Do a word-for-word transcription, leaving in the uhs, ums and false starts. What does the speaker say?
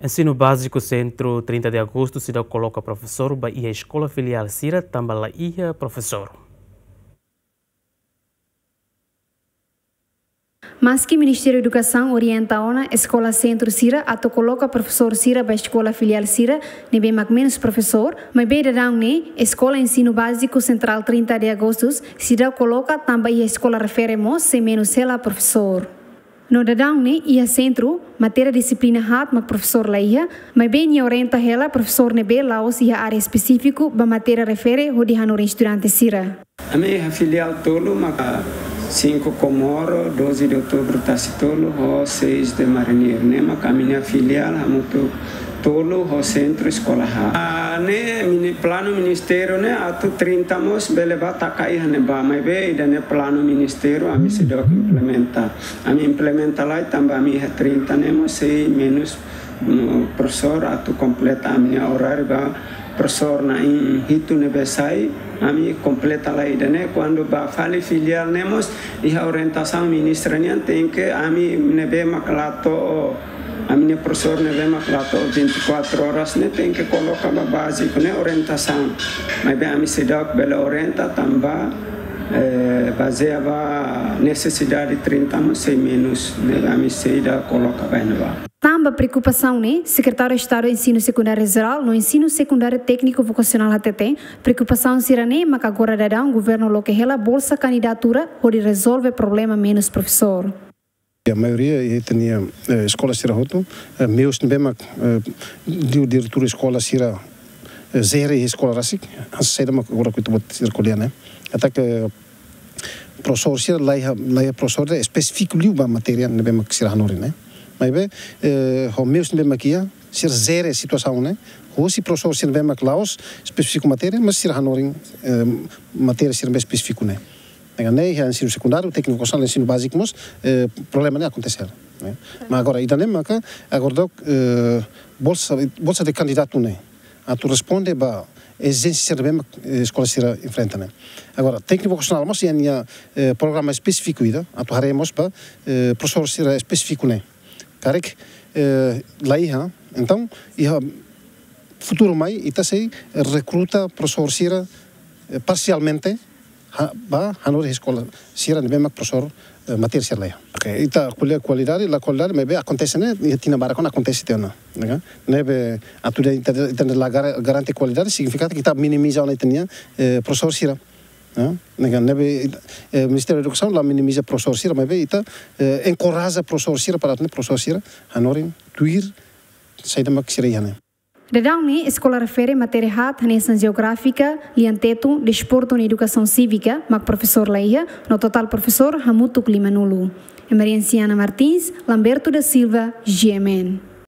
Ensinu Báziku Sentru trinta de Agostu seidauk koloka profesór ba iha eskola filiál sira tanba la iha profesór. Maski Ministériu Edukasaun orienta ona eskola sentru sira atu koloka profesór sira ba eskola filiál sira ne'ebé mak menus profesór, maibé daudaun ne'e Eskola Ensinu Báziku Sentrál trinta de Agostu seidauk koloka tanba iha eskola refere mós sei menus hela profesór. No daudaun ne'e iha sentru, matéria dixiplina haat mak profesór la iha, maibé nia orienta hela profesór ne'ebé la'ós iha área espesífiku ba matéria refere hodi hanorin estudante sira. Ami iha filiál tolu maka cinco Comoro, doze de Outubro Tasi-Tolu, ho seis de Marinheiro. Ne'e maka ami-nia filiál hamutuk tolu ho sentru eskola haat. Ah, ne'e mini-, planu ministériu ne'e atu trinta mós bele bá taka iha ne'ebá, maibé ida-ne'e planu ministériu ami seidauk implementa. Ami implementa lai tanba ami iha trinta ne'e mós sei menus, mm, profesór atu kompleta ami-nia oráriu ba profesór na'in hitu ne'ebé sai, ami kompleta lai ida-ne'e. Kuandu ba fali filiál ne'e mós iha orientasaun ministra nian tenke ami ne'ebé mak la to'o, ami-nia profesór ne'ebé mak la to'o vinte e quatro horas ne'e tenke koloka ba báziku ne'e orientasaun. Maibé ami seidauk bele orienta tanba, eh, bazeia ba nesesidade trinta mós sei menus, ne'ebé ami seidauk koloka ba iha ne'ebá. Tanba preokupasaun ne'e, Sekretáriu Estadu Ensinu Sekundáriu Jerál no Ensinu Sekundáriu Tékniku Vokasionál hateten, preokupasaun sira-ne'e maka agora daudaun governu loke hela bolsa kandidatura hodi rezolve problema menus profesór. A maioria ita-nia, eh, eskola sira hotu, eh, meius ne'ebé mak, eh, di-, diretór eskola sira, eh, jere eskola rasik, hanesan saida mak agora kuita buat sira ko'alia ne'e. Katak profesór sira la iha, la iha profesór ne'ebé espesífiku liu ba matéria ne'ebé mak sira hanorin ne'e. Maibé, eh, ho meius ne'ebé mak iha, sira jere situasaun ne'e. Hosi profesór sira ne'ebé mak la'ós espesífiku matéria, mas sira hanorin, eh, matéria sira ne'ebé espesífiku ne'e. Ne'e iha ensinu sekundáriu, tékniku vokasionál, ensinu báziku mós, eh, problema ne'e akontese, ne'e. Mas agora, ida-ne'e maka, agora daudaun, eh, bolsa, bolsa de kandidatu ne'e atu responde ba ezijénsia sira ne'ebé mak, eh, eskola sira enfrenta ne'e. Agora, tékniku vokasionál mós iha nia, eh, programa espesífiku ida, atu haree mós ba, eh, profesór sira espesífiku ne'e. Karik, eh, la iha, entaun, iha futuru mai, ita sei rekruta profesór sira, eh, parsialmente, ha-, ba hanorin eskola sira ne'ebé mak profesór, eh, matéria sira la iha. Ok, ita ko'alia kualidade, la kualidade, maibé akontese ne'e, iha tinan barak ona akontese tiha ona, ne'e ka? Ne'ebé atu ita, ita, ita la gar-, garante kualidade, signifika katak ita minimiza ona ita-nia, eh, profesór sira. Eh, ne'e ka, ne'ebé, eh, Ministériu Edukasaun la minimiza profesór sira, maibé ita, eh, enkoraja profesór sira para atu nune'e profesór sira hanorin tuir saida mak sira iha ne'e. Daudaun ne'e eskola refere matéria haat hanesan jeográfika, lian-tetun, desportu no edukasaun sívika mak profesór la iha, no totál profesór hamutuk limanulu. Emerenciana Martins, Lamberto da Silva, G M N.